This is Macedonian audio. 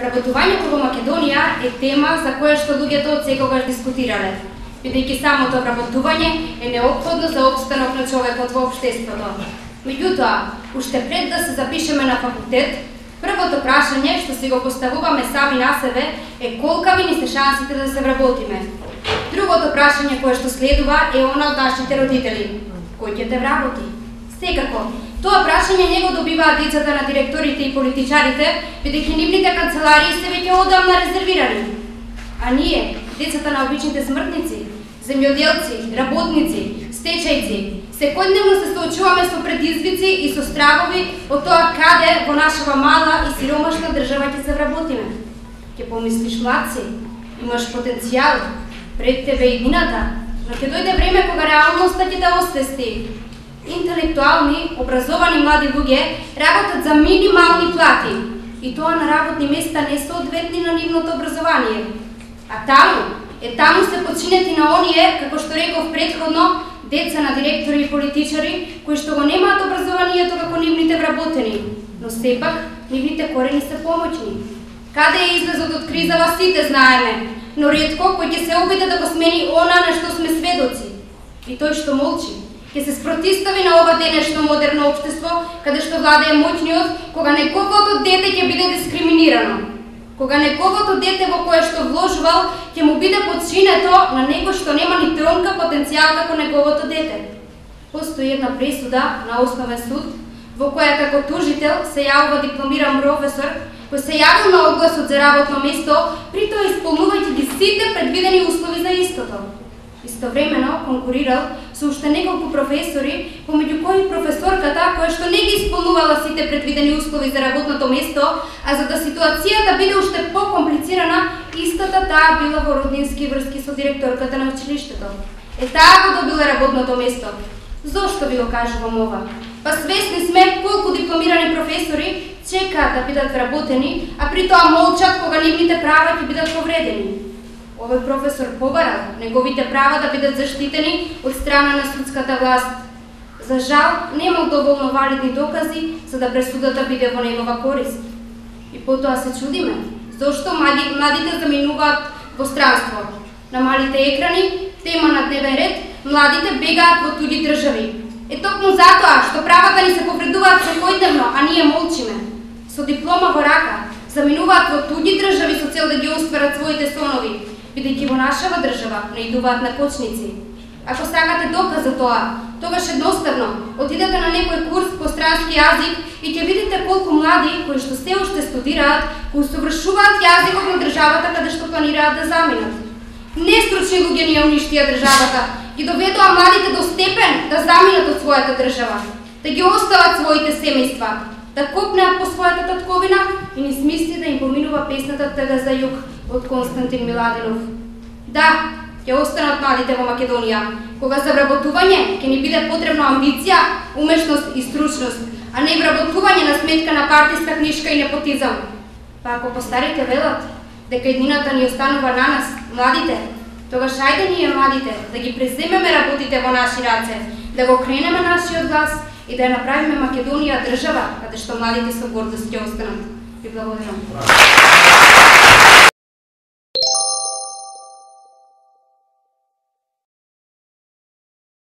Вработувањето во Македонија е тема за која што луѓето од секогаш дискутирале, бидејќи самото вработување е неопходно за опстанок на човекот во општеството. Меѓутоа, уште пред да се запишеме на факултет, првото прашање што си го поставуваме сами на себе е колкави ни се шансите да се вработиме. Другото прашање кое што следува е она од нашите родители: кој ќе те вработи? Секако, тоа прашање не го добиваат децата на директорите и политичарите, бидејќи нивните канцеларии се веќе одамна резервирани. А ние, децата на обичните смртници, земјоделци, работници, стечајци, секојдневно се соочуваме со предизвици и со стравови од тоа каде во нашава мала и сиромашна држава ќе се вработиме. Ќе помислиш, млад си, имаш потенцијал, пред тебе иднината, но ќе дојде време кога реалноста ќе те освести. Интелектуални, образовани млади луѓе работат за минимални плати, и тоа на работни места несоодветни на нивното образование. А таму се починети на оние, како што реков претходно, деца на директори и политичари, кои што го немаат образованието како нивните вработени, но сепак нивните корени се помоќни. Каде е излезот од кризава сите знаеме, но ретко кој ќе се обиде да го смени она на што сме сведоци. И тој што молчи ќе се спротистави на ова денешно модерно општество, каде што владее моќниот, кога неговото дете ќе биде дискриминирано. Кога неговото дете во кое што вложувал ќе му биде подчинето на него што нема ни тронка потенцијал како неговото дете. Постои една пресуда на Основен суд, во која како тужител се јавува дипломиран професор, кој се јавил на огласот за работно место, при тоа исполнувајќи ги сите предвидени услови за истото. Истовремено конкурирал со уште неколку професори, помеѓу кои професорката која што не ги исполнувала сите предвидени услови за работното место, а за да ситуацијата биде уште покомплицирана, истата таа била во роднински врски со директорката на училиштето. Таа го добила работното место. Зошто ви го кажувам ова? Па свесни сме колку дипломирани професори чекаат да бидат вработени, а при тоа молчат кога нивните права ќе бидат повредени. Овој професор побарал неговите права да бидат заштитени од страна на судската власт. За жал, немал доволно валидни докази за да пресудата биде во негова корист. И потоа се чудиме зошто младите заминуваат во странство. На малите екрани, тема на дневен ред, младите бегаат во туѓи држави. Токму затоа што правата ни се повредуваат секојдневно, а ние молчиме. Со диплома во рака, заминуваат во туѓи држави со цел да ги остварат своите сонови, бидејќи во нашава држава наидуваат на кочници. Ако сакате доказ за тоа, тогаш едноставно отидете на некој курс по странски јазик и ќе видите колку млади кои што се уште студираат, кои усовршуваат јазикот на државата каде што планираат да заминат. Нестручни луѓе ни ја уништија државата, ги доведоа младите до степен да заминат од својата држава, да ги остават своите семејства, да копнеат по својата татковина и ни смисли да им поминува песната Тага за југ од Константин Миладинов. Да, ќе останат младите во Македонија, кога за вработување ќе ни биде потребна амбиција, умешност и стручност, а не вработување на сметка на партиска книшка и непотизам. Па ако постарите велат дека иднината ни останува на нас, младите, тогаш ајде ние младите да ги преземеме работите во наши раце, да го кренеме нашиот глас и да ја направиме Македонија држава каде што младите со гордост ќе останат. Ви благодарам.